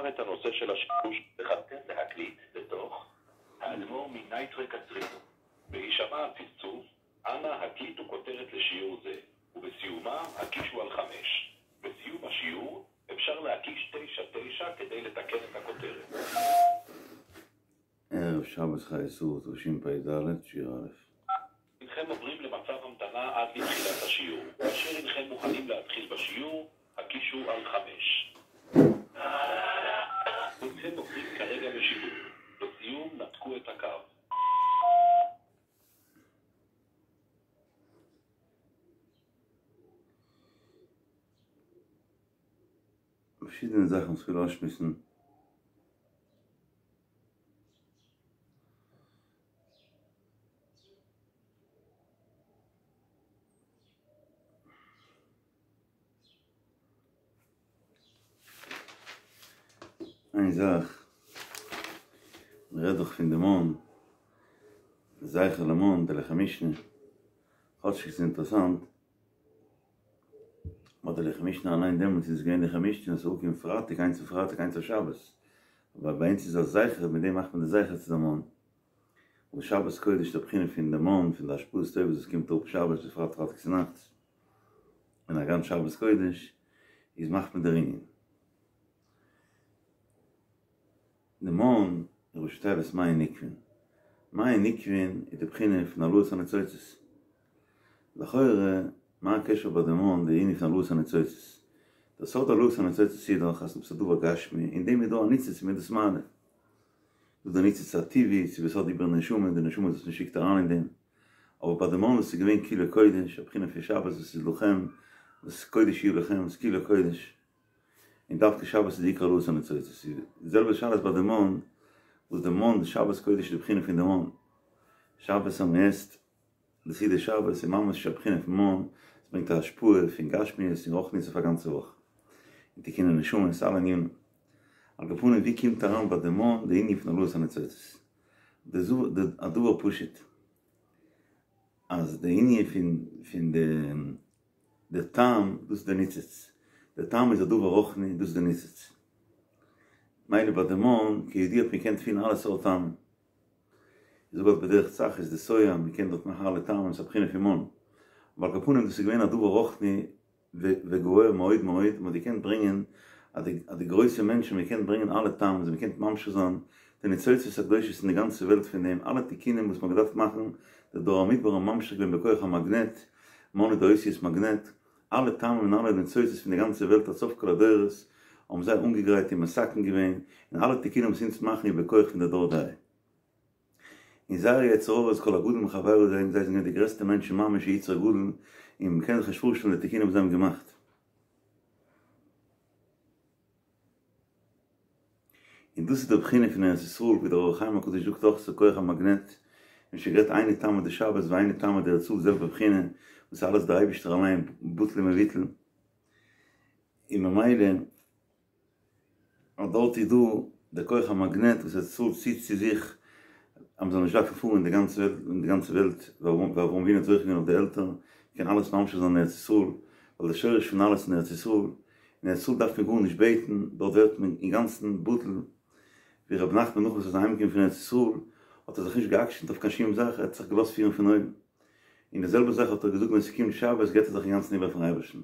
תבחר את הנושא של השיעור בחרתם להקליט לתוך האדמו"ר מנייטרא קצרין. בהישמע הצפצוף, אנא הקליטו כותרת לשיעור זה, ובסיומה הקישו על 5. בסיום השיעור אפשר להקיש 9-9 כדי לתקן את הכותרת. ערב שבת חיי שרה תשפ"ד, שיעור א'. הנכם עוברים למצב המתנה עד לתחילת השיעור. כאשר הנכם מוכנים להתחיל בשיעור, הקישו על 5. הנכם עוברים כרגע בשידור. לסיום נתקו את הקו. פארשידענע זאכן וואס כ'וויל אויסשמועסן. איין זאך, מ'רעדט דאך פון די מן, זכר למן, די לחם משנה, כאטשיג ס'איז אינטערעסאנט, באט די לחם משנה אליין דעמאלטס איז געווען לחם משנה און ס'איז אנגעקומען פרייטאג איינס אויף פרייטאג איינס אויף שבת, אבער ביי אונז איז א זכר מיט דעם מאכט מען די זכר צו די מן, און שבת קודש די בחינה פון די מן פון די השפעות טובות וואס קומט אראפ שבת בפרט פרייטאג צונאכטס און א גאנץ שבת קודש איז מאכט מען דער ענין. די מן איז ראשי תיבות מיין נוקבין. מיין נוקבין איז די בחינה פון העלאת הניצוצות. לכאורה, מה הקשר ביי די מן די ענין פון העלאת הניצוצות? דער סוד העלאת הניצוצות איז דאך אז עפעס א דבר גשמי, אין דעם איז דא א ניצוץ מ'איז דאס מעלה. דאס די ניצוץ הטבעי, ס'איז בסוד איבער נשמה, די נשמה וואס מ'שיקט אריין אין דעם. אבער ביי די מן וואס איז געווען כולו קודש, א בחינה פון שבת וואס איז לכם, וואס קודש יהיה לכם, וואס כולו קודש. און דווקא שבת איז די עיקר העלאת הניצוצות. די זעלבע שאלה איז ביי די מן, וואס די מן, די שבת קודש איז די בחינה פון די מן. שבת אז מען עסט די סעודת שבת איז ממש א בחינה פון מן, עס ברענגט א השפעה פון גשמיות און רוחניות אויף א גאנצע וואך. און תיקוני נשמות, אלע ענינים. על כל פנים ווי קומט אריין ביי די מן די ענין פון העלאת הניצוצות? די א דבר פשוט אז די ענין פון פון די די טעם, דאס איז די ניצוץ. די טעם איז א דבר רוחני, דאס איז די ניצוץ. מילא ביי די מן, כידוע האט מען געקענט פילן אלע סארט טעמים. איך זאג אלס בדרך צחות די שובע, מען קען דארט מאכן אלע טעמים, ס'איז א בחינה פון מן. אבער על כל פנים דאס איז געווען א דבר רוחני וגבוה מאוד מאוד, מען האט געקענט ברענגען, אז די אז די גרויסע מענטשן האבן געקענט ברענגען אלע טעמים, זיי האבן געקענט ממשיך זיין די ניצוצות הקדושות אין די גאנצע וועלט פון דעם, אלע תיקונים וואס מען האט געדארפט מאכן, די דור המדבר האבן ממשיך געווען בכח המגנט, מן איז די אותיות מגנט, אלע טעמים און אלע ניצוצות פון די גאנצע וועלט עד סוף כל הדורות האבן זיי אנגעגרייט און מתקן געווען, און אלע תיקונים וואס אונז מאכן איז בכח פון די דור דעה. און זייער יצר הרע איז כל הגדול מחבירו זיי זענען געווען די גרעסטע מענטשן ממש יצר גדול, און מ'קען זיך נישט פארשטעלן די תיקונים וואס זיי האבן געמאכט. און דאס איז די בחינה פון ארץ ישראל ווי דער אור החיים הקדוש זאגט אויך ס'איז כח המגנט, און שוין גערעדט היינו טעמא דשבת והיינו טעמא דארץ ישראל זעלבע בחינה, וואס איז אלעס דער אייבישטער אליין בטל ומבוטל, און ממילא אז דארט איז דא דער כח המגנט וואס ארץ ישראל ציט צו זיך אז מ'זאל נישט דארפן פארן אין די גאנצע וועלט אין די גאנצע וועלט, ווי אברהם אבינו האט זוכה געווען אויף די עלטער, קען אלעס ממשיך זיין אין ארץ ישראל, ווייל די שורש פון אלעס אין ארץ ישראל, אין ארץ ישראל דארף מען גארנישט בעטן, דארט ווערט מען אינגאנצן בטל, ווי רבי נחמן נאך וואס ער איז אהיימגעקומען פון ארץ ישראל, האט ער זיך נישט גע'עקשנ'ט אויף קיין שום זאך, ער האט זיך געלאזט פירן פון אויבן. און די זעלבע זאך האט ער געזאגט ווען ס'קומט שבת געבט ער זיך אינגאנצן איבער פארן אייבערשטן.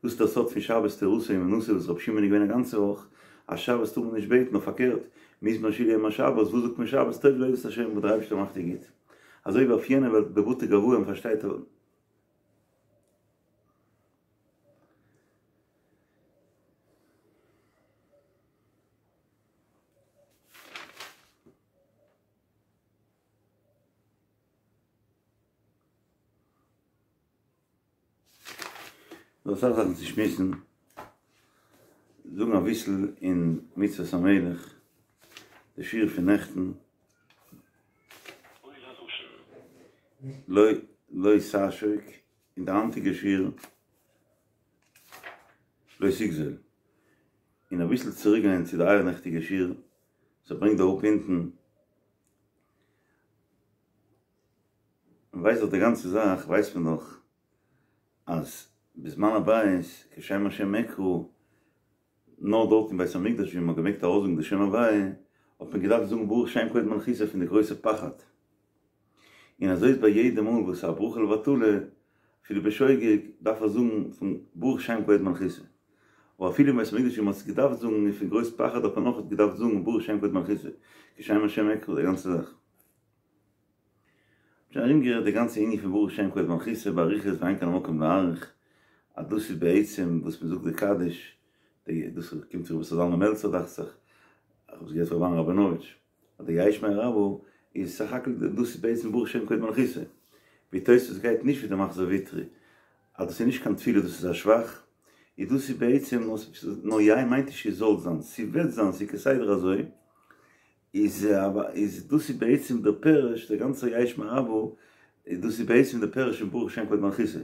דאס איז דער סוד פון שבת תורתו אומנותו וואס רבי שמעון איז געווען א גאנצע וואך, אז שבת טאר מען נישט בעטן נאר פארקערט, מזמור שיר ליום השבת, וואס זאגט מען שבת טוב להודות להשם וואס דער אייבערשטער מאכט דיר גוט. אזוי ווי אויף יענע וועלט בבתי גבאי מ'פארשטייט. דא אסאך זאכן צו שמועסן, זאגן אביסל אין מצוות המלך, די שיעור פון נעכטן, לא לא תעשוק, און די היינטיגע שיעור לא תגזול, און אביסל צוריק גיין צו די אייערנעכטיגע שיעור, וואס ער ברענגט דא אראפ אונטן, מען ווייסט דאך די גאנצע זאך ווייסט מען דאך אז בזמן הבית כשם השם אקרא. נאר דארט אין בית המקדש ווי מ'האט געמעגט ארויסזאגן די שם הוויה, האט מען געדארפט זאגן ברוך שם כבוד מלכותו פון די גרויסע פחד. און אזוי איז ביי יעדע מאל וואס א ברכה לבטלה, אפילו בשוגג, דארף ער זאגן פון ברוך שם כבוד מלכותו. אבער אפילו אין בית המקדש ווי מ'האט עס געדארפט זאגן און פון גרויס פחד האט מען אויך געדארפט זאגן ברוך שם כבוד מלכותו, כי שם השם אקרא, די גאנצע זאך. שוין ארומגערעדט די גאנצע ענין פון ברוך שם כבוד מלכותו באריכות ואין כאן המקום להאריך, אז דאס איז בעצם וואס מען זאגט די קדיש, די דאס קומט פון ר' איסר זלמן מעלצער דאכט זיך, איך האב עס געהערט פון ר' אהרן ראבינאוויטש, אז די יהא שמיה רבא איז סך הכל דאס איז בעצם ברוך שם כבוד מלכותו, ווי תוספות גייט נישט ווי די מחזור ויטרי, אז דאס איז נישט קיין תפילה דאס איז א שבח, איז דאס איז בעצם נאר יהא מיינט נישט ס'זאל זיין, ס'וועט זיין, ס'איז כסדר אזוי. איז איז דאס איז בעצם דער פירוש, דער גאנצער יהא שמיה רבא, דאס איז בעצם דער פירוש פון ברוך שם כבוד מלכותו.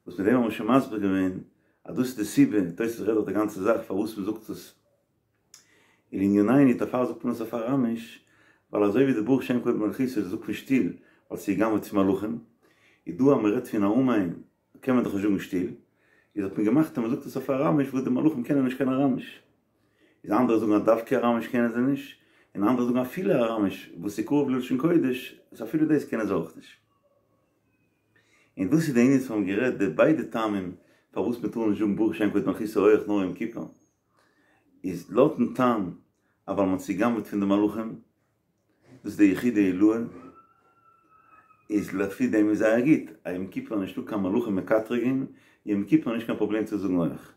וואס מיט דעם האבן מיר שוין מסביר געווען אז דאס איז די סיבה, תוספות רעדט דאך די גאנצע זאך פארוואס מען זאגט עס לענינינו, דערפאר זאגט מען עס אויף אראמיש, ווייל אזוי ווי די ברוך שם כבוד מלכותו זאגט מען שטיל, ווייל ס'איז גע'גנב'עט פון מלאכים, איז דא אז מען רעדט פון א אמן קען מען דאך נישט זאגן שטיל, איז האט מען געמאכט אז מען זאגט עס אויף אראמיש וואס די מלאכים קענען נישט קיין אראמיש. איז אנדערע זאגן אז דווקא אראמיש קענען זיי נישט, און אנדערע זאגן אפילו אראמיש וואס איז קרוב ללשון קודש, איז אפילו דאס קענען זיי אויך נישט. און דאס איז די ענין וואס מיר האבן גערעדט די ביידע טעמים פארוואס מען טאר נישט זאגן ברוך שם כבוד מלכותו הויעך נאר יום כיפור, איז לויטן טעם אז ווייל מען האט צוגע'גנב'עט פון די מלאכים, דאס איז די יחודא עילאה, איז לפי דעם איז זייער גוט, א יום כיפור נישטא קיין מלאכים מקטרגים, יום כיפור נישט קיין פראבלעם צו זאגן הויך,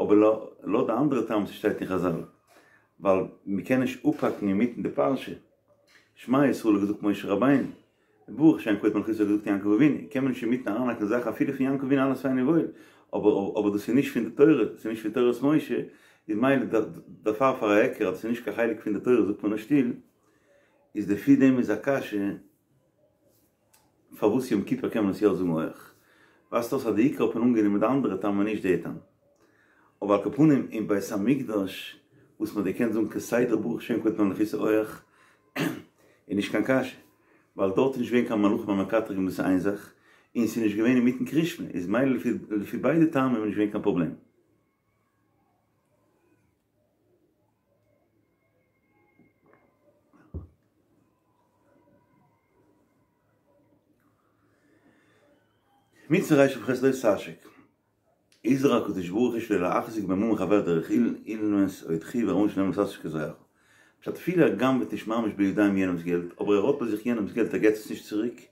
אבער לויט די אנדערע טעם וואס שטייט אין חזל, ווייל מ'קען נישט אפהאקן אינמיטן די פרשה, שמע ישראל האט געזאגט משה רבינו, ברוך שם כבוד מלכותו האט געזאגט יעקב אבינו, קען מען נישט אינמיטן אריינהאקן זאכן אפילו פון יעקב אבינו אלעס פיין און וואויל, אבער אבער דאס איז נישט פון די תורה, דאס איז נישט פון תורת משה, איז מילא דערפאר פאר א היכר אז דאס איז נישט קיין חלק פון די תורה זאגט מען עס שטיל, איז לפי דעם איז א קשיא פארוואס יום כיפור קען מען עס יא זאגן הויעך, ווייזט אויס אז די עיקר האט מען אנגענומען די אנדערע טעם און נישט די טעם. אבער על כל פנים אין בית המקדש וואס מען האט געקענט זאגן כסדר ברוך שם כבוד מלכותו הויעך איז נישט קיין קשיא, ווייל דארט איז נישט געווען קיין מלאכים המקטרגים דאס איז איין זאך, און ס'איז נישט געווען אינמיטן קרישמע, איז מילא לפי ביידע טעמים איז נישט געווען קיין פראבלעם. מצוה רכ"ח לא תעשוק. הזהיר הקדוש ברוך הוא שלא להחזיק בממון חבר דרך אילנות או דחי ורמאו שנאמר לא תעשוק את רעך. פשט אפילו ער גנב'עט נישט ממש בידיים יענעמ'ס געלט אבער ער האט ביי זיך יענעמ'ס געלט ער געט עס נישט צוריק,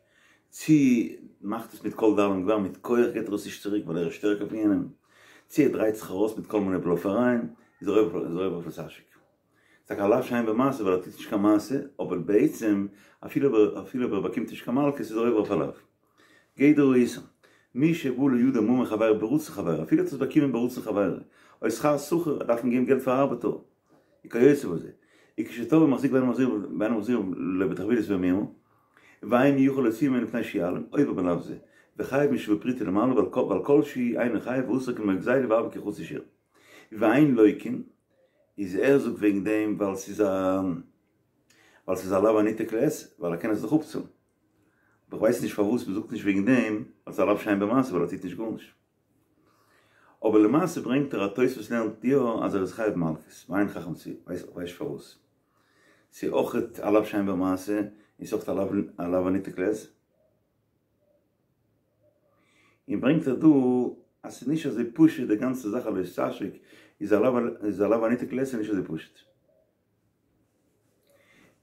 צי מאכט עס מיט כל דאלים גבר מיט כח געט ער עס נישט צוריק ווייל ער איז שטערקער פון יענעם, צי ער דרייט זיך ארויס מיט כל מיני בלאפערייען איז ער עובר אויף לא תעשוק. ס'טאקע א לאו שאין בו מעשה ווייל ער טוט נישט קיין מעשה אבער בעצם אפילו אפילו אויב ער באקומט נישט קיין מלקות איז ער עובר אויף א לאו. גדר האיסור, מי שבא לידו ממון חברו ברצון חברו, אפילו האט עס באקומען ברצון חברו, או שכר שכיר, ער דארף אים געבן געלט פאר ארבעטער, וכיוצא בזה, וכשתבעו מחזיק ואינו מחזיר ואינו מחזיר לו בתחבולות ובמרמה, ואין יכול להוציאו ממנו מפני שיעלים, עובר בלאו זה, וחייב משווה פרוטה ולמעלה, ועל כל שהוא אינו חייב ואסור כמו גזילה והוה כחצי שיעור. ואין לוקין, איז ער זאגט וועגן דעם ווייל ס'איז א ווייל ס'איז א לאו הניתק לעשה, ווייל ער קען עס דאך אפצאלן. אבער כ'ווייס נישט פארוואס מ'זאגט נישט וועגן דעם אז ס'איז א לאו שאין בו מעשה ווייל ער טוט נישט גארנישט. אבער למעשה ברענגט ער א תוספות לערנט יא אז ער איז חייב מלקות, ועיין חכם צבי, ווייס נישט פארוואס. ס'איז אויכעט א לאו שאין בו מעשה און ס'איז אויכעט א לאו הניתק לעשה. און ברענגט ער דא אז ס'איז נישט אזוי פשוט די גאנצע זאך אז לא תעשוק איז א לאו הניתק לעשה נישט אזוי פשוט.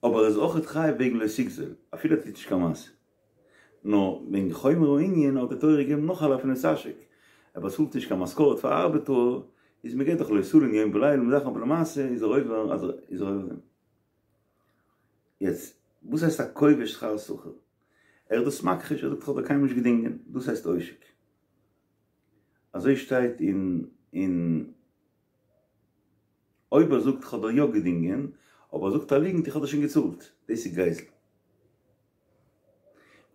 אבער ער איז אויכעט חייב וועגן לא תגזול, אפילו ער טוט נישט קיין מעשה. נאר וועגן חומר הענין האט די תורה געגעבן נאך א לאו פון לא תעשוק. ער באצאלט נישט קיין משכורת פאר ארבעטער, איז מ'געט דאך לא תלין יום ולילה און זאכן אבער למעשה איז ער עובר אז איז ער עובר דעם. יעצט, וואס הייסט א כובש שכר שכיר? ער איז דאס מכחיש, ער זאגט איך האב דיר קיינמאל נישט געדינגען, דאס הייסט עושק. אזוי שטייט אין אין. אויב ער זאגט איך האב דיר יא געדינגען, אבער ער זאגט א ליגנט איך האב דיר שוין געצאלט, דאס איז גזל.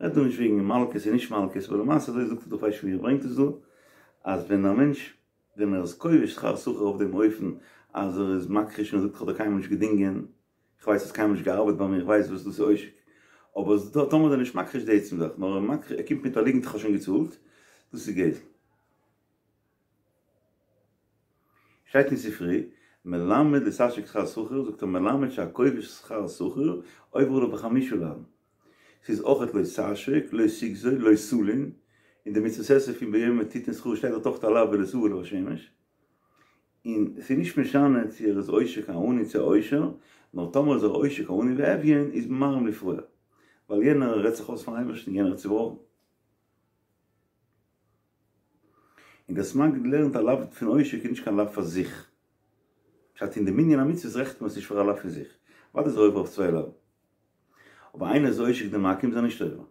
מ'רעדט דא נישט וועגן מלקות און נישט מלקות, אבער למעשה אזוי זאגט ער דא, כ'ווייס נישט ווי ער ברענגט עס דא, אז ווען א מענטש ווען ער איז כובש שכר שכיר אויף דעם אופן אז ער איז מכחיש און ער זאגט איך האב דיר קיינמאל נישט געדינגען, איך ווייס האסט קיינמאל נישט געארבעט ביי מיר, איך ווייס וואס דאס איז עושק. אבער טאמער איז ער נישט מכחיש די עצם זאך, נאר ער קומט מיט א ליגנט איך האב שוין געצאלט, דאס איז גזל. שטייט אין ספרי, מלמד לא תעשוק שכר שכיר, זאגט ער מלמד שהכובש שכר שכיר, עובר עליו בחמישה לאווין. ס'איז אויכעט לא תעשוק, לא תגזול, לא תלין, אין די מצוות עשה פון ביום תתן שכרו שטייט דארט אויכעט א לאו ולא תבוא אליו השמש. און ס'איז נישט משנה צו ער איז עושק א עני צו א עושר, נאר טאמער איז ער עושק א עני ואביון איז ממהרים לפרוע, ווייל יענער רעדט זיך אויס פארן אייבערשטן, יענער איז צובראכן. און דער סמ"ג לערנט א לאו פון עושק איז נישט קיין לאו פאר זיך. פשט אין די מנין המצוות רעכנט מען עס נישט פאר א לאו פון זיך. אוודאי איז ער עובר אויף צוויי לאווין. אבער איינער איז עושק דעם עכו"ם איז ער נישט עובר.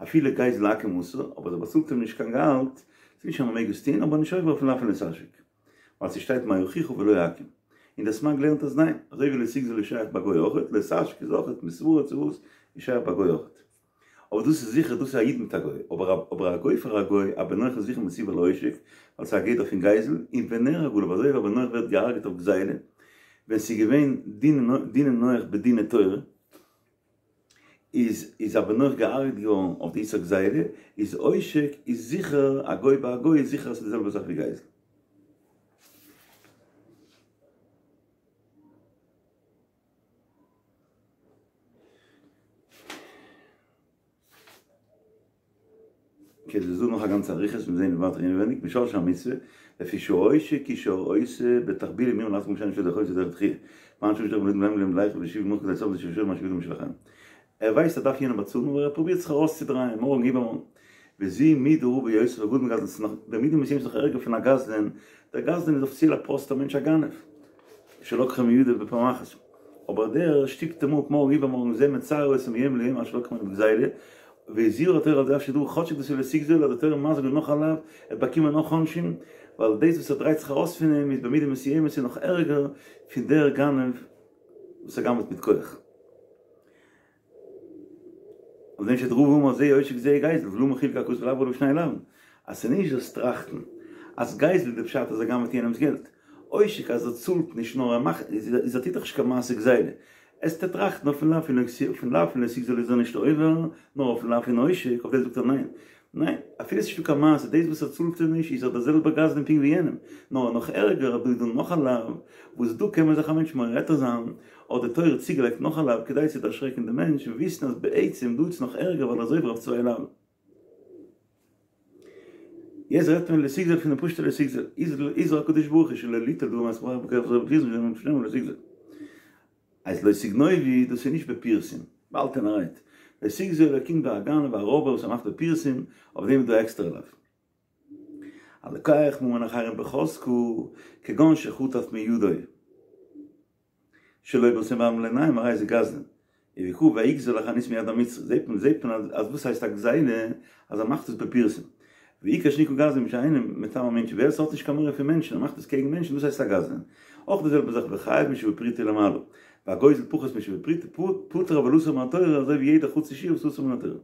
אפילו גזל עכו"ם אסור, אבער אז ער באצאלט אים נישט קיין געהאלט, ס'איז נישט אז מ'מעג עס טון, אבער נישט עובר אויפן לאו פון לא תעשוק. ווייל ס'שטייט מה אחיך ולא עכו"ם. און דער סמ"ג לערנט אז ניין, אזוי ווי לא תגזול איז שייך ביי גוי אויכעט, לא תעשוק איז אויכעט, מסברא צו וואס, איז שייך ביי גוי אויכעט. אבער דאס איז זיכער דאס איז א איד מיט א גוי, אבער אבער א גוי פאר א גוי, א בן נח איז זיכער מצווה על העושק, ווייל ס'איז א גדר פון גזל, און ונהרג עליו, אזוי ווי א בן נח ווערט געהארגעט אויף גזילה, ווען ס'איז געווען דיני נח בדיני תורה, איז איז א בן נח געהארגעט געווארן אויף די איסור גזילה, איז עושק איז זיכער א גוי ביי א גוי איז זיכער אז ס'איז די זעלבע זאך ווי גזל. אקעי ס'איז דא נאך א גאנצע אריכות מיר זעהן ווייטער אינעווייניג משרשי המצוה לפי שהעושק הוא שעושה בתחבולים יאמר לעצמו שאני שודך עושה דרך דחיה פעם שושדך בלוט בלעם להם לייך ושיב מוח כדי סוף דשב שור מה שבידו משלכם ער ווייסט ער דארף יענעם באצאלן אבער ער פרובירט זיך ארויסצודרייען מארגן איבערמארגן וזו מידה רעה ביותר וגדול מגזלן ס'איז נאך במידה מסוימת נאך ערגער פון א גזלן דער גזלן איז אפיציעל א פראסטער מענטש א גנב שלקחו מידו בפעם אחת אבער דער שטופט אים אפ מארגן איבערמארגן זה מצער אותו מיום ליום עד שלקח ממנו בגזילה והזהירה התורה על זה אף שדא כאטשיג דאס איז לא תגזול האט די תורה מזהיר געווען נאך א לאו ער האט באקומען נאך עונשים ווייל דאס וואס ער דרייט זיך ארויס פון אים איז במידה מסוימת איז נאך ערגער פון דער גנב וואס ער גנב'ט מיט כח. אויף דעם שטייט רבא אמר זה עושק זה גזל ולמה חלק הכתוב לעבור עליו שני לאווין אז ס'איז נישט זאלסט טראכטן אז גזל איז די פשט אז ער גנב'ט יענעמ'ס געלט עושק אז ער צאלט נישט נאר ער מאכט איז ער טוט דאך נישט קיין מעשה גזילה עסטו טראכטן אויפן לאו פון אויפן לאו פון לא תגזול איז ער נישט עובר נאר אויפן לאו פון עושק אויף דעם זאגט ער ניין ניין, אפילו ס'נישטא קיין מעשה, דאס וואס ער צאלט אים נישט איז ער דער זעלבער גזלן פונקט ווי יענעם, נאר נאך ערגער אז דא איז דא נאך א לאו, וואס דא קען מען זיך א מענטש מורה היתר זיין, האט די תורה צוגעלייגט נאך א לאו כדי צו דערשרעקן דעם מענטש און וויסן אז בעצם דא איז נאך ערגער ווייל ער איז עובר אויף צוויי לאווין. יעצט רעדט מען לא תגזול פון די פשוט'ע לא תגזול, הזהיר הקדוש ברוך הוא שלא ליטול דבר מאת חברו בכח זרוע בפרסום שנאמר לא תגזול. אז לא תגנובו דאס איז נישט בפרסום, באהאלטענערהייט, לא תגזול קומט ביי א גנב א רויבער וואס ער מאכט בפרסום, אויף דעם איז דא עקסטערע לאו. הלוקח ממון אחרים בחזקה, כגון שחטף מידו שלא ברצון והעלם לעינים הרי זה גזלן. ויקרא ויגזל החנית מיד המצרי, זעט מען זעט מען אז וואס הייסט א גזילה אז ער מאכט עס בפרסום. ועיקר שנקרא גזלן מי שאינו מטמא מענטשן, ווער עס האט נישט קיין מורא פון מענטשן און מאכט עס קעגן מענטשן דאס הייסט א גזלן. אויך די זעלבע זאך וחייב משוה פרוטה ולמעלה. והגוזל פחות משוה פרוטה פטור אבל אסור מן התורה אזוי ווי יעדע חצי שיעור וואס אסור מן התורה.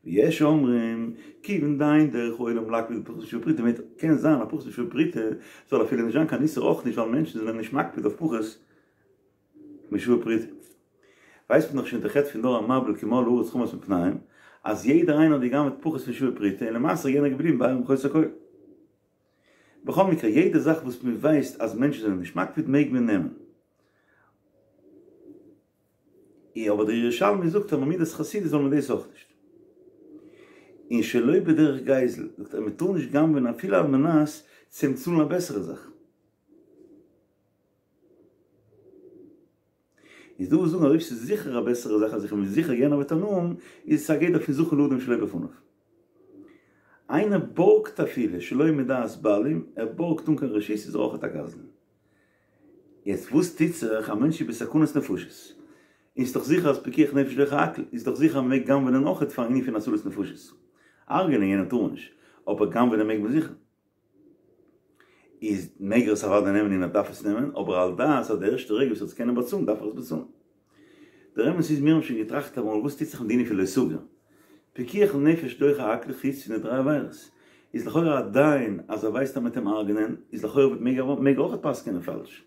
ויש אומרים, כיוון דאין דרך העולם להקפיד בפחות משוה פרוטה מיינט קען זיין אז פחות משוה פרוטה זאל אפילו נישט זיין קיין איסור אויך נישט ווייל מענטשן זענען נישט מקפיד אויף פחות משוה פרוטה. ווייסט מען דאך שוין די חטא פון דור המבול כי מלאה הארץ חמס מפניהם, אז יעדער איינער האט געגנב'ט פחות פון שוה פרוטה און למעשה איז יענער געבליבן בעירום וחוסר כל. בכל מקרה יעדע זאך וואס מען ווייסט אז מענטשן זענען נישט מקפיד מעג מען נעמען. אבער דער ירושלמי זאגט אז ממידת חסידות זאל מען דאס אויך נישט. און שלא בדרך גזל, זאגט ער מען טאר נישט גנב'ען אפילו על מנת צו אים צאלן א בעסערע זאך. איז דא וואס זאגן אז אויב ס'איז זיכער א בעסערע זאך אז איך בין זיכער יענער וועט הנאה האבן, איז עס א גדר פון זכין לאדם שלא בפניו. איינער בארגט אפילו שלא מדעת בעלים, ער בארגט אן קיין רשות איז ער אויכעט א גזלן. יעצט וואס טוט זיך, א מענטש איז בסכנת נפשות, און ס'איז דאך זיכער אז פיקוח נפש דוחה הכל, איז דאך זיכער אז מ'מעג גנב'נען אויכעט פארן ענין פון הצלת נפשות. הרג'נען יענעם טאר מען נישט, אבער גנב'נען מעג מען זיכער. איז מעג ער עס אוודאי נעמען און ער דארף עס נעמען, אבער על דעת אז די ערשטע רגע וואס ער וועט עס קענען באצאלן דארף ער עס באצאלן. דער אמת איז מיר האבן שוין געטראכט אמאל וואס טוט זיך מיט די ענין פון לא תגור. פיקוח נפש דוחה הכל חוץ פון די דריי עבירות. איז לכאורה א דיין אז ער ווייסט אז מ'וועט אים הרג'נען איז לכאורה וועט מעג ער מעג ער אויכעט פסק'ענען פאלש.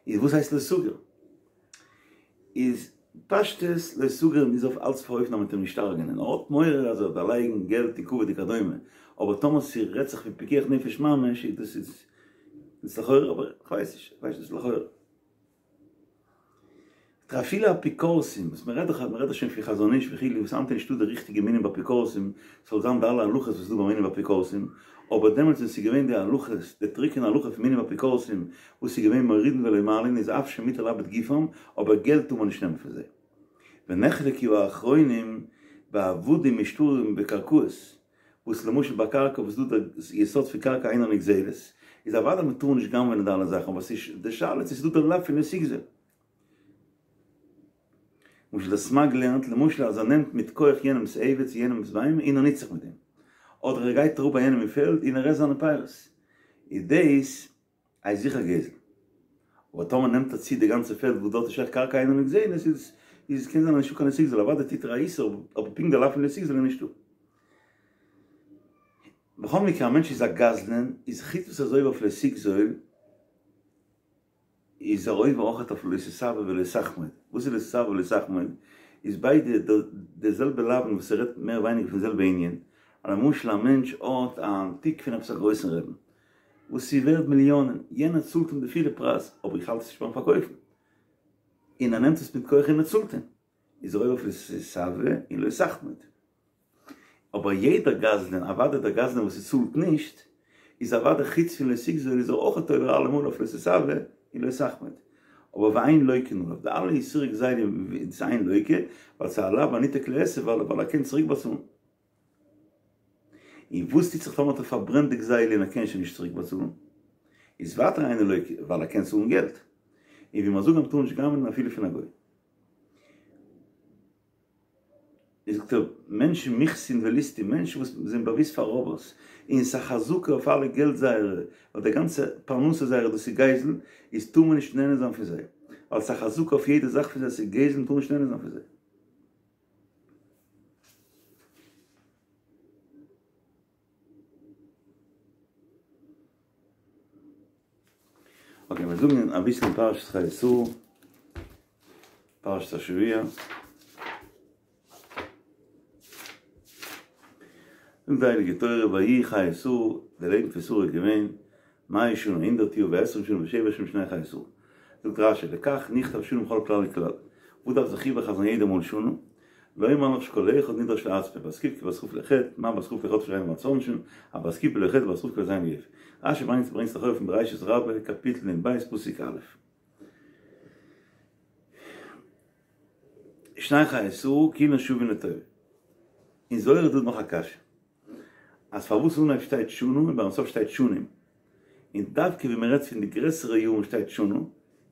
איז וואס הייסט לא תגור? איז פשטות לא תגור איז אויף אלץ אויפן אופן אז מ'וועט אים נישט הרג'נען, ער האט מורא אז ער וועט דערלייגן געלט און כבוד וכדומה, אבער טאמער ס'רעדט זיך פון פיקוח נפש ממש איז דאס איז. איז לכאורה אבער כ'ווייס נישט, כ'ווייס נישט לכאורה. אפילו אפיקורסים, וואס מ'רעדט דאך מ'רעדט דאך שוין פון חזון איש וכו', וואס היינט איז נישטא די ריכטיגע מינים באפיקורסים, ס'זאל זיין די אלע הלכות וואס איז דא ביי מינים ואפיקורסים, אבער דעמאלטס ווען ס'איז געווען די הלכות, די טרוקענע הלכה פון מינים ואפיקורסים, וואס איז געווען מורידין ולא מעלין, איז אף שמותר לאבד גופם, אבער געלט טאר מען נישט נעמען פון זיי. ונחלקו האחרונים בעבדים ושטרים וקרקעות, וואס למשל ביי קרקע וואס דא די יסוד פון קרקע אינה נגזלת, איז אוודאי מען טאר נישט גנב'ענען די אלע זאכן, אבער ס'איז די שאלה צו ס'איז דא די לאו פון לא תגזול. למשל די סמ"ג לערנט למשל אז ער נעמט מיט כח יענעמ'ס עבד צו יענעמ'ס בהמה און ער נוצט זיך מיט דעם, אדער ער גייט אראפ ביי יענעם אין פעלד און ער עסט זיינע פירות, איז דאס איז זיכער גזל. אבער טאמער נעמט ער צו די גאנצע פעלד וואס דארט איז שייך קרקע אינה נגזלת איז איז קען זיין אז נישטא קיין לא תגזול אוודאי טוט ער א איסור אבער פונקט די לאו פון לא תגזול איז נישטא. בכל מקרה א מענטש איז א גזלן איז חוץ וואס ער איז עובר אויף לא תגזול איז ער עובר אויכעט אויף לא תתאוה ולא תחמוד. וואס איז לא תתאוה ולא תחמוד? איז ביידע די זעלבע לאווין וואס ס'רעדט מער ווייניגער פון די זעלבע ענין. למשל א מענטש האט א אנטיק פון עפעס א גרויסן רעבן וואס איז ווערד מיליאנען, יענער צאלט אים די פילע פרייז, אבער איך האלט עס נישט ביים פארקויפן, און ער נעמט עס מיט כח און ער צאלט אים, איז ער עובר אויף לא תתאוה און לא תחמוד. אבער יעדער גזלן, אוודאי דער גזלן וואס ער צאלט נישט, איז אוודאי חוץ פון לא תגזול איז ער אויכעט עובר אלעמאל אויף לא תתאוה און לא תחמוד. אבער ואין לוקין עליו, די אלע איסורי גזילה איז אין לוקה, ווייל ס'איז א לאו הניתק לעשה ווייל ער קען צוריק באצאלן. און וואס טוט זיך טאמער האט ער פארברענט די גזילה און ער קען שוין נישט צוריק באצאלן? איז ווייטער אינו לוקה ווייל ער קען צאלן געלט. און ווי מיר זאגן אז מ'טאר נישט גנב'נען אפילו פון א גוי. איז זאגט ער, מענטשן מוכסין וליסטין, מענטשן וואס זענען באוואוסט פאר ראבערס, און ס'איז א חזקה אויף אלע געלט זייערע, ווייל די גאנצע פרנסה זייערע דאס איז גזל, איז טאר מען נישט נהנה זיין פון זיי, ווייל ס'איז א חזקה אויף יעדע זאך פון זיי, ס'איז גזל מ'טאר נישט נהנה זיין פון זיי. אקעי, מיר זאגן אביסל אין פרשת חיי שרה, פרשת השבוע. זאגט די הייליגע תורה ויהי חיי שרה, די לעבן פון שרה איז געווען מאה שנה, הונדערט יאר, ועשרים שנה ושבע שנים שני חיי שרה. זאגט רש"י, לכך נכתב שנה בכל כלל וכלל. וואס דארף זיך איבערחזר'ן יעדע מאל שנה? לומר לך שכל אחד נדרש לעצמו, בת ק' כבת כ' לחטא, מה בת כ' לחטא שאין בת עונשין, אף בת ק' בלא חטא בת כ' כבלע ז' ליופי. רש"י ברענגט ברענגט זיך אויף אין בראשית רבה קאפיטל נ"ב פסוק א'. שני חיי שרה כולן שוין לטובה. אין זוהר איז דא נאך א קשיא. אז פארוואס אנהייב שטייט שנה און ביים סוף שטייט שנים? און דווקא ווען מ'רעדט פון די גרעסערע יארן שטייט שנה,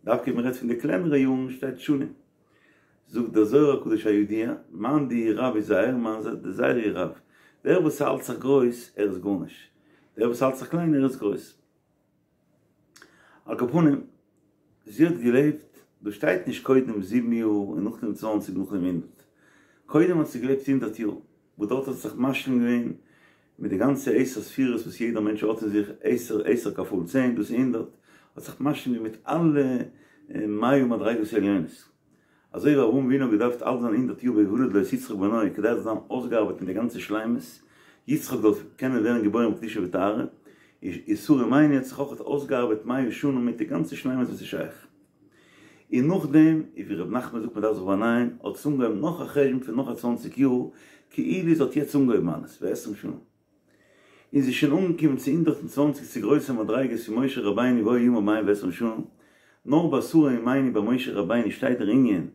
דווקא ווען מ'רעדט פון די קלענערע יארן שטייט שנים. זאגט דער זוהר הקדוש הידוע, מאן דאיהו רב יזהר מאן דזעיר איהו רב, דער וואס האלט זיך גרויס ער איז גארנישט, דער וואס האלט זיך קליין ער איז גרויס. על כל פנים, זי האט געלעבט, דא שטייט נישט קודם זיבן יאר און נאכדעם צוואנציג נאכדעם הונדערט, קודם האט זי געלעבט הונדערט יאר, וואס דארט האט זי זיך משלים געווען מיט די גאנצע עשר ספירות וואס יעדער מענטש האט אין זיך, עשר, עשר כפול צען, דאס איז הונדערט, האט זיך משלים געווען מיט אלע מאה מדריגות עליונות. אזוי ווי אברהם אבינו האט געדארפט אלט זיין הונדערט יאר בהולד לו את יצחק בנו כדי ער זאל זיין אויסגעארבעט מיט די גאנצע שלימות, יצחק זאל קענען ווערן געבוירן בקדושה וטהרה, איז שרה אמנו האט זיך אויך אויסגעארבעט מאה שנה מיט די גאנצע שלימות וואס איז שייך. און נאכדעם, ווי ר' נחמן זאגט מען דארף זיך באנייען, האט עס אנגעהויבן נאך א חשבון פון נאך א צוואנציג יאר, כאילו זי האט יעצט אנגעהויבן אלעס, ועשרים שנה. און זי איז שוין אנגעקומען צו הונדערט און צוואנציג צו גרויסע מדריגות פון משה רבינו והיו ימיו מאה ועשרים שנה, נאר ביי שרה אמנו ביי משה רבינו שטייט דער ענין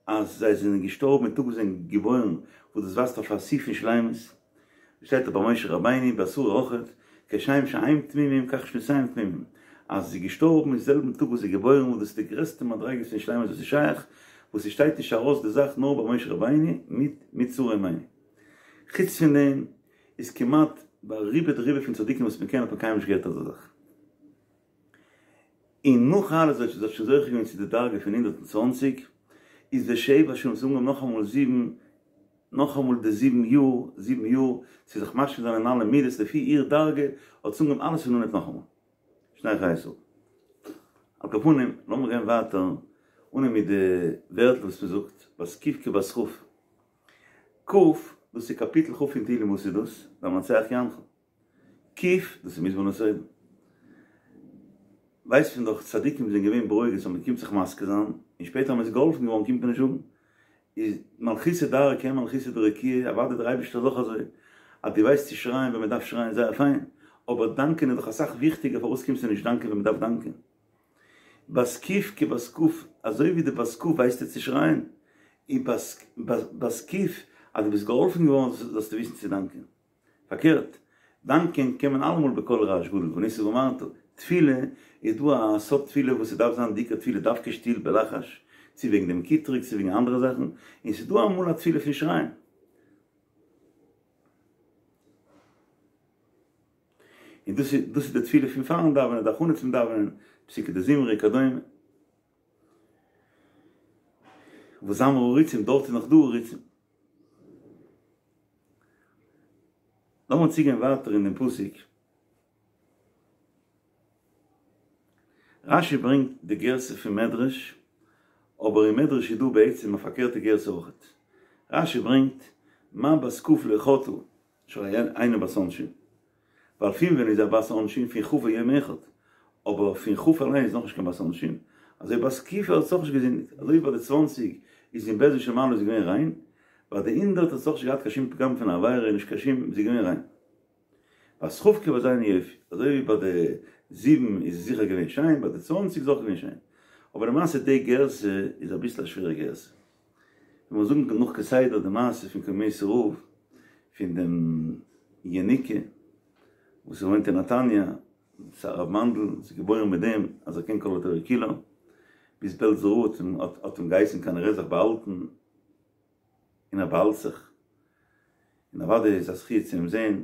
אז זיי זענען געשטארבן אין טאג וואס זיי זענען געבוירן, וואס דאס ווייזט אויף א שיא פון שלימות, שטייט דאך ביי משה רבינו ביי שרה אויכעט, כשם שהם תמימים כך שנותיהם תמימים, אז זי איז געשטארבן אין זעלבן טאג וואס זי איז געבוירן וואס דאס איז די גרעסטע מדריגות פון שלימות וואס איז שייך, וואס ס'שטייט נישט ארויס די זאך נאר ביי משה רבינו מיט מיט שרה אמנו. חוץ פון דעם איז כמעט ביי רובא דרובא פון צדיקים וואס מ'קען האט מען קיינמאל נישט געהערט אזא זאך. און נאך אלעס זי האט שוין זוכה געווען צו די דרגה פון 120, איז ושבע שנים ס'איז אנגעהויבן נאכאמאל זיבן, נאכאמאל די זיבן יאר, זיבן יאר, צו זיך משלים זיין אין אלע מידות לפי איר דרגה, האט זי אנגעהויבן אלעס פון אנהייב נאכאמאל. שני חיי שרה. על כל פנים, לאמיר גיין ווייטער, אנהייבן מיט די ווערטל וואס מ'זאגט, בת ק' כבת כ'. ק, דאס איז קאפיטל כ' אין תהילים וואס איז דאס? למנצח יענך. ק, דאס איז מזמור לתודה. ווייסט מען דאך צדיקים זענען געווען ברוגז אז מען קומט זיך מזכיר זיין, און שפעטער אז מען איז געהאלפן געווארן קומט מען נישט זאגן. איז מלכותא דארעא כעין מלכותא דרקיעא, אוודאי דער אייבערשטער איז אויך אזוי, אז דו ווייסט צו שרייען ווען מען דארף שרייען זייער פיין, אבער דאנקען איז דאך אסאך וויכטיגער פארוואס קומסטו נישט דאנקען ווען מען דארף דאנקען? בת ק' כבת כ', אזוי ווי די בת כ' ווייסטו צו שרייען, און בת ק' אז דו ביסט געהאלפן געווארן זאלסטו וויסן צו דאנקען. פארקערט, דאנקען קען מען אלעמאל בקול רעש גדול וענית ואמרת, תפילה איז דא א סארט תפילה וואס ס'דארף זיין די עיקר תפילה דווקא שטיל בלחש, צו וועגן דעם קטרוג צו וועגן אנדערע זאכן, און ס'איז דא אמאל א תפילה פון שרייען. און דאס איז דאס איז די תפילה פון פארן דאווענען, די הכנה צום דאווענען, פסוקי דזמרה וכדומה. וזמרה עריצים, דארט איז נאך דא עריצים. לאמיר צוגיין ווייטער אין דעם פסוק. רש"י ברענגט די גירסא פון מדרש, אבער אין מדרש איז דא בעצם א פארקערטע גירסא אויכעט. רש"י ברענגט, מה בת כ' לא חטאה, שהרי אינה בת עונשין. ווייל פון ווען איז א בת עונשין? פון כ' ויום אחד. אבער פון כ' אליין איז נאכנישט קיין בת עונשין. אזוי בת ק' האט זי אויך נישט געזינדיגט. אזוי ווי ביי די צוואנציג איז אין בית דין של מעלה איז זי געווען ריין. ביי די הונדערט האט זי אויך נישט געהאט קיין שום פגם פון עבירה, נישט קיין שום, זי איז געווען ריין. בת כ' כבת ז' יופי. אזוי ווי ביי די זיבן איז זי זיכער געווען שיין, ביי די צוואנציג איז אויך געווען שיין. אבער למעשה די גירסא איז אביסל א שווערע גירסא. ווען מיר זאגן נאך כסדר די מעשה פון קוממיות רב פון דעם ינוקא וואס וואוינט אין נתניה, ס'איז הרב מאנדל, איז געבוירן מיט דעם אז ער קען כל התורה כולה, ביז בעלזער רב האט אים געהייסן כנראה זיך באהאלטן, און ער באהאלט זיך, און אוודאי איז א זכי' צו אים זען.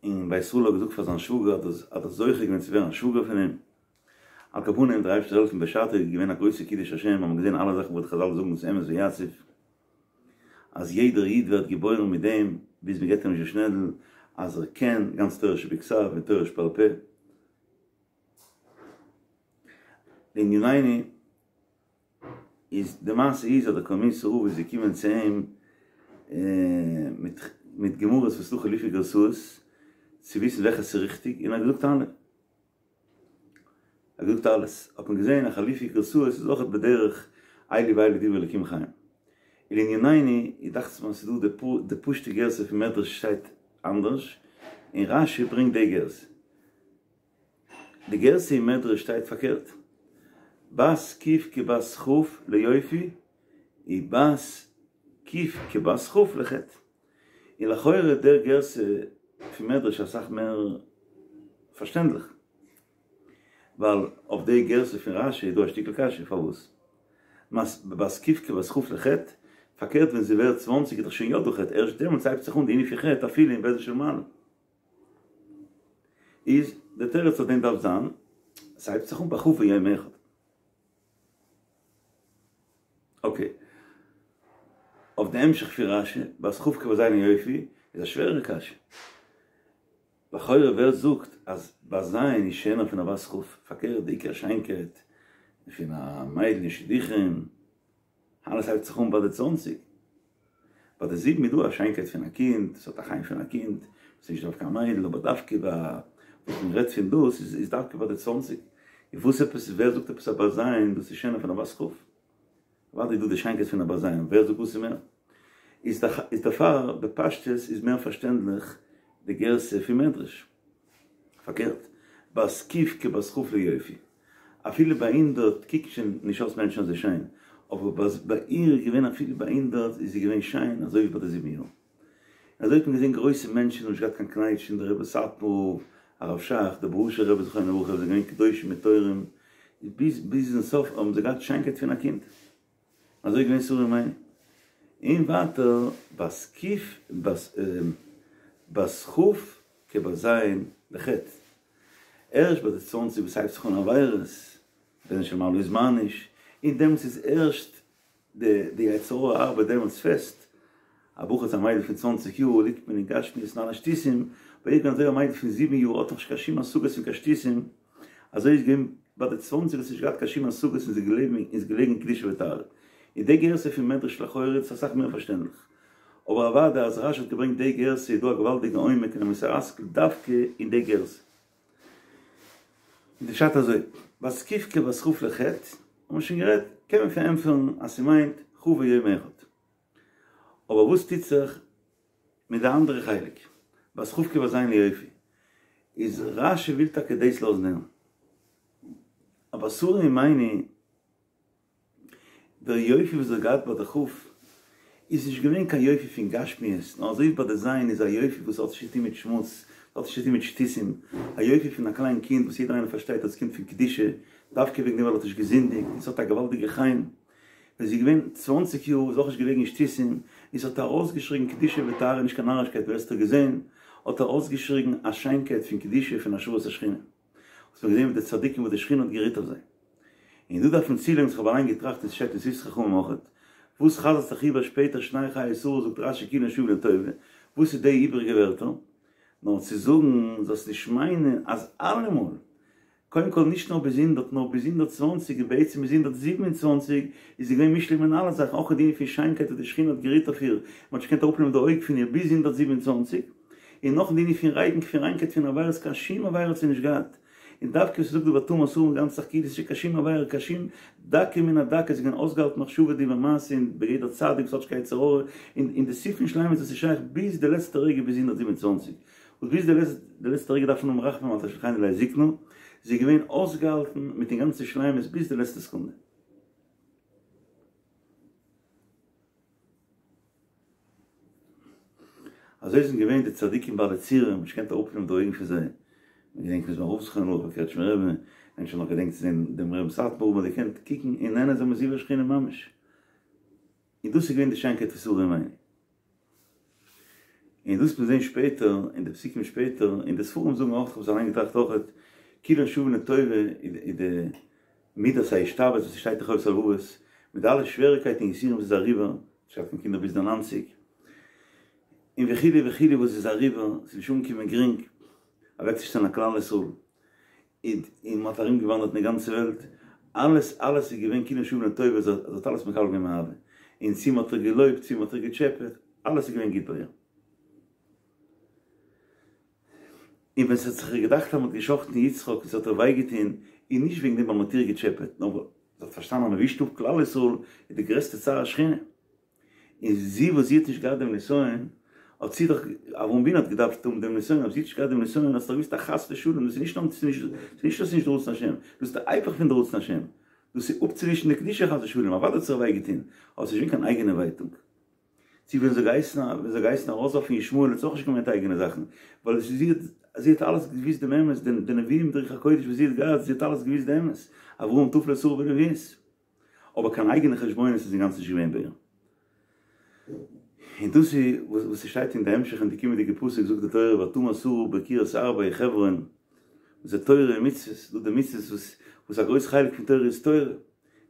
און בית ישראל האט געזאגט פאר זיין שוואגער אז ער האט זוכה געווען צו ווערן א שוואגער פון אים. על כל פנים, דער אייבערשטער זאל העלפן בשעתו איז געווען א גרויסע קידוש השם, האט מען געזען אלע זאכן וואס די חזל זאגן דאס אמת ויציב, אז יעדער איד ווערט געבוירן מיט דעם, ביז מען געבט אים נישט די שנעדל, אז ער קען גאנץ תורה שבכתב און תורה שבעל פה. לענינינו. איז די מעשה איז אז דער קוממיות רב איז געקומען צו אים מיט מיט גמרות וואס דא חילופי גרסאות צו וויסן וועלכע ס'איז ריכטיג און ער האט געזאגט אלע. ער האט געזאגט אלעס. האט מען געזען אז חילופי גרסאות איז אויכעט בדרך אלו ואלו דברי אלקים חיים. ולענינינו איז דאכט זיך מיר אז ס'איז דא די פשוט'ע גרסה פון מדרש שטייט אנדערש און רש"י ברענגט די גרסה. די גרסה אין מדרש שטייט פארקערט, בת ק' כבת כ' ליופי ובת ק' כבת כ' לחטא. און לכאורה דער גרסה פון מדרש איז אסאך מער פארשטענדליך, ווייל אויף די גרסה פון רש"י איז דא א שטיקל קשיא, פארוואס בת ק' כבת כ' לחטא? פארקערט ווען זי ווערט צוואנציג איז דאך שוין יא דא חטא, ערשט דעמאלטס הייבט זיך אן די ענין פון חטא אפילו אין בית דין של מעלה. איז די תירוץ אויף דעם דארף זיין, ס'הייבט זיך אן ביי כ' ויום אחד. אקעי. אויף די המשך פון רש"י, בת כ' כבת ז' ליופי, איז א שווערערע קשיא. לכאורה ווער זאגט אז בת ז' איז שענער פון א בת כ'? פארקערט די עיקר שיינקייט פון א מיידל אין שידוכים, אלעס הייבט זיך אן ביי די צוואנציג. ביי די זיבן איז דא א שיינקייט פון א קינד, עס האט א חן פון א קינד, עס איז נישט דווקא א מיידל, אבער דווקא ביי וואס מען רעדט פון דאס איז דווקא ביי די צוואנציג. און וואס עפעס, ווער זאגט עפעס א בת ז' דאס איז שענער פון א בת כ'? אוודאי איז דא די שיינקייט פון א בת ז', ווער זאגט וואס איז מער? איז דערפאר בפשטות איז מער פארשטענדליך די גרסה פון מדרש. פארקערט, בת ק' כבת כ' ליופי. אפילו ביי הונדערט קוקט שוין נישט אויס מענטשן אזוי שיין, אבער ביי איר איז געווען אפילו ביי הונדערט איז זי געווען שיין אזוי ווי ביי די זיבן יאר. אזוי האט מען געזען גרויסע מענטשן האבן נישט געהאט קיין קנייטשן, דער רבי סאטמאר, הרב שך, דער בוהושער רבי זכרונו לברכה זענען געווען קדושים וטהורים, ביז ביזן סוף האבן זיי געהאט שיינקייט פון א קינד. אזוי איז געווען שרה אמנו. און ווייטער בת ק' בת בת כ' כבת ז' לחטא. ערשט ביי די צוואנציג וואס הייבט זיך אן עבירות, בית דין של מעלה איז מעניש, און דעמאלטס איז ערשט די די יצר הרע ארבעט דעמאלטס פעסט, א בחור צו א מיידל פון צוואנציג יאר ליגט מען אין גשמיות און אלע שטותים, ביי איר געווען אזוי א מיידל פון זיבן יאר האט נאך נישט קיין שום השגות פון קיין שטותים, אזוי איז געווען ביי די צוואנציג האט זי נישט געהאט קיין שום השגות און זי איז געלעבן און איז געלעגן אין קדושה וטהרה. און די גרסה פון מדרש לכאורה איז אסאך מער פארשטענדליך. אבער אוודאי אז רש"י האט געברענגט די גרסה איז דא א געוואלדיגע עומק און א מוסר השכל דווקא אין די גרסה. איז די פשט אזוי, בת ק' כבת כ' לחטא, האבן מיר שוין גערעדט, קען מען פארענטפערן אז ס'מיינט כ' ויום אחד. אבער וואס טוט זיך מיט די אנדערע חלק, בת כ' כבת ז' ליופי, איז רש"י וויל טאקע דאס לאזן הערן. אבער שרה אמנו דער יופי וואס זי האט געהאט ביי די כ' איז נישט געווען קיין יופי פון גשמיות, נאר אזוי ווי ביי די ז' איז א יופי וואס האט נישט צו טון מיט שמוץ, האט נישט צו טון מיט שטותים, א יופי פון א קליין קינד וואס יעדער איינער פארשטייט אז עס קומט פון קדושה, דווקא וועגן דעם ווייל ער האט נישט געזינדיגט, און עס האט א געוואלדיגע חן. ווען זי איז געווען צוואנציג יאר איז אויך נישט געלעגן אין שטותים, און ס'האט ארויסגעשריגן קדושה וטהרה נישט קיין נארישקייט ווער עס האט געזען האט ארויסגעשריגן א שיינקייט פון קדושה פון השראת השכינה. וואס מ'האט געזען מיט די צדיקים וואס די שכינה האט גערוהט אויף זיי. און דא דארף מען צולייגן וואס איך האב אליין געטראכט און ס'שטייט אין שפתי חכמים אויכעט, וואס חזר'ט זיך איבער שפעטער שני חיי שרה זאגט רש"י כולן שוין לטובה, וואס איז די איבעריגע ווערטער? נאר צו זאגן זאלסט נישט מיינען אז אלעמאל, קודם כל נישט נאר ביז הונדערט נאר ביז 120 און בעצם ביז 127 איז זי געווען מושלם אין אלע זאכן אויך אין די ענין פון שיינקייט וואס די שכינה האט גערוהט אויף איר, מ'האט נישט געקענט אראפנעמען די אויג פון איר ביז 127. און נאך די ענין פון ריין פון ריינקייט פון עבירות קיין שום עבירה האט זי נישט געהאט, און דווקא וואס ס'זאגט דא ותמר שרה די גאנצע זאך כאילו ס'איז קיין שום עבירה קיין שום דקה מן הדקה איז געווען אויסגעהאלטן מחשבה דיבור מעשה און בגדר צדיק וואס האט נישט קיין יצר הרע און און די סעיף פון שלימות וואס איז שייך ביז די לעצטע רגע ביז 127 וואס ביז די לעצטע רגע דארף מען האבן רחמים אל תשליכני לעת זקנה זי איז געווען אויסגעהאלטן מיטן גאנצן שלימות ביז די לעצטע סעקונדע. אזוי זענען געווען די צדיקים בעלי צורה, מ'האט נישט געקענט אראפנעמען די אויגן פון זיי, מען געדענקט פון רב זכרונו לברכה, קרעטשמער רבי, מענטשן האבן נאך געדענקט צו זען דעם רבין סאטמאר רב, מען האט געקענט קוקן און נהנה זיין מזיו השכינה ממש, און דאס איז געווען די שיינקייט פון שרה אמנו. און דאס וועט מען זען שפעטער אין די פסוקים שפעטער, און די ספרים זאגן אויך, כ'האב עס אליין געטראכט אויכעט, כולן שוין לטובה איז די מידת ההשתעבדות וואס ס'שטייט אין חובת הלבבות, מיט די אלע שוועריקייטן און יסורים וואס איז אריבער, נישט געהאט קיין קינדער ביז די ניינציג, און וכו' וכו' וואס איז אריבער, ס'איז נישט אנגעקומען גרינג אוועקצושטעלן א כלל ישראל, און און מ'האט ארום געוואנדערט אין די גאנצע וועלט, אלעס אלעס איז געווען כולן שוין לטובה, זי האט אלעס מקבל געווען מאהבה, און צו מ'האט איר געלויבט צו מ'האט איר געטשעפעט, אלעס איז געווען גוט ביי איר. און ווען ס'האט זיך איר געדאכט אז מ'האט גע'שחט'ן יצחק און ס'האט איר וויי געטון, איז נישט וועגן דעם ווייל מ'האט איר געטשעפעט, נאר ווייל זי האט פארשטאנען אז מ'ווישט אפ כלל ישראל איז די גרעסטע צער השכינה. און זי וואס זי האט נישט געהאט דעם נסיון, האט זי דאך, אברהם אבינו האט געדארפט האבן דעם נסיון, אבער זי האט נישט געהאט דעם נסיון, האט זי דאך געוואוסט אז חס ושלום, דאס איז נישט נאר, ס'איז נישט אז ס'איז נישט די רצון השם, דאס איז די היפך פון די רצון השם, דאס איז אפצוווישן די קדושה חס ושלום, אוודאי האט זי זיך וויי געטון, אבער ס'איז נישט געווען קיין אייגענע ווייטאג. צו ווען זי האט געהייסן ווען זי האט געהייסן ארויסווארפן ישמעאל האט זי אויך נישט געמיינט אייגענע זאכן, ווייל זי האט זי האט אלעס געוואוסט דעם אמת, די נביאים די רוח הקודש וואס זי האט געהאט, זי האט אלעס געוואוסט די אמת, אברהם תפלה שרה בנביאות. אבער קיין אייגענע חשבונות איז אינגאנצן נישט געווען ביי איר. און דאס איז וואס ס'שטייט אין די המשך אין די קומענדיגע פסוק זאגט די תורה ותמר שרה בקרית ארבע אין חברון, וואס איז תורה און מצוות, דא די מצוות וואס וואס א גרויס חלק פון תורה איז תורה, און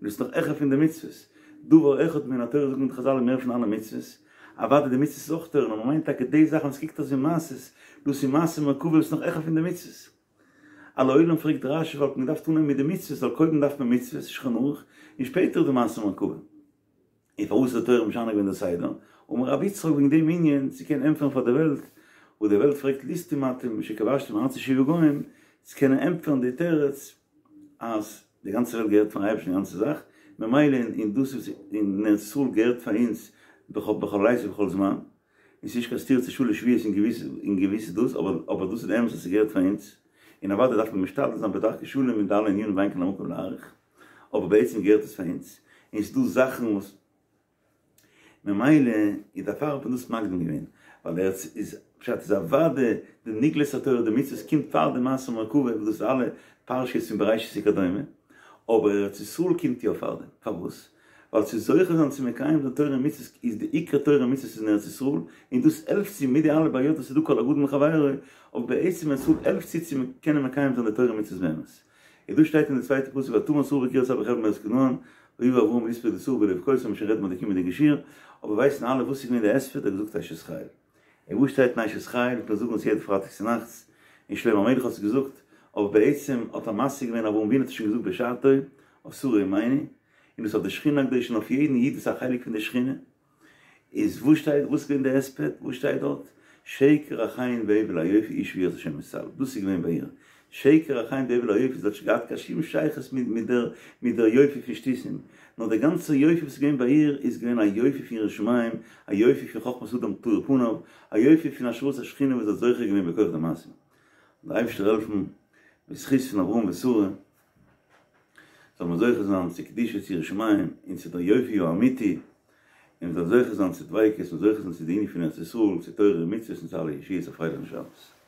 דאס איז נאך העכער פון די מצוות, דבר אחד מן התורה זאגן די חזל איז מער פון אלע מצוות, אוודאי די מצוות איז אויך תורה, נאר מ'מיינט טאקע די זאכן וואס קוקט אויס ווי מעשות, דאס איז מעשה מרכבה וואס איז נאך העכער פון די מצוות. על העולם פרעגט רשי וואלט מען געדארפט אנהייבן מיט די מצוות ווייל קודם דארף מען מצוות, שולחן ערוך, און שפעטער די מעשה מרכבה. און פארוואס האט די תורה משנה געווען די סדר? אמר רבי יצחק וועגן דעם ענין צו קענען ענטפערן פאר די וועלט, וואס די וועלט פרעגט ליסטים אתם שכבשתם ארצות שבעה גוים, צו קענען ענטפערן די תירוץ אז די גאנצע וועלט געהערט פארן אייבערשטן די גאנצע זאך, ממילא און דאס וואס אין ארץ ישראל געהערט פאר אונז בכל עת ובכל זמן, און ס'איז נישט קיין סתירה צו שלש שבועות אין געוויסע אין געוויסע דאס, אבער אבער דאס איז די אמת אז ס'געהערט פאר אונז, און אוודאי דארף מען משתדל זיין בדרכי שלום אין די אלע ענינים ואין כאן המקום להאריך, אבער בעצם געהערט עס פאר אונז, און ס'איז דא זאכן וואס ממילא איז דערפאר האט מען דאס מקדים געווען, ווייל ארץ איז פשט איז אוודאי די נגלות התורה די מצוות קומט פאר די מעשה מרכבה וואס דאס איז אלע פרשיות פון בראשית וכדומה, אבער ארץ ישראל קומט יא פארדעם, פארוואס? ווייל צו זוכה זיין צו מקיים זיין תורה און מצוות איז די עיקר תורה און מצוות איז אין ארץ ישראל, און דאס העלפט צו מיט די אלע בעיות וואס איז דא כל הגדול מחבירו, אבער בעצם ארץ ישראל העלפט צו צו קענען מקיים זיין די תורה און מצוות באמת. און דא שטייט אין די צווייטע פסוק ותמר שרה בקרית ארבע בחברון בארץ כנען, ויבא אברהם לספוד לשרה ולבכותה, מ'וועט שוין רעדן ביי די קומענדיגע שיעור, אבער ווייסן אלע וואס איז געווען די הספד, ער האט געזאגט אשת חיל. און וואו שטייט אין אשת חיל, מיר זאגן עס יעדע פרייטאג צונאכטס, און שלמה המלך האט עס געזאגט, אבער בעצם האט ער משיג געווען אברהם אבינו האט עס שוין געזאגט בשעתו, אויף שרה אמנו, און דאס אויף די שכינה הקדושה און אויף יעדן איד וואס איז א חלק פון די שכינה, איז וואס שטייט וואס איז געווען די הספד, וואס שטייט דארט, שקר החן והבל היופי אשה יראת השם יתעלל, דאס איז געווען ביי איר, שקר החן והבל היופי, זי האט נישט געהאט קיין שום שייכות מיט מיט דער מיט דער יופי פון שטותים, נאר דער גאנצער יופי וואס איז געווען ביי איר איז געווען א יופי פון יראת שמים, א יופי פון חכמת אדם תאיר פניו, א יופי פון השראת השכינה וואס זי האט זוכה געווען בכח די מעשים. זאל דער אייבערשטער העלפן בזכות פון אברהם ושרה זאל מען זוכה זיין צו קדושה צו יראת שמים און צו דער יופי האמיתי, און מ'זאל זוכה זיין צו דביקות און זוכה זיין צו די ענין פון ארץ ישראל, צו תורה ומצוות און צו אלע ישועות א פרייליכן שבת.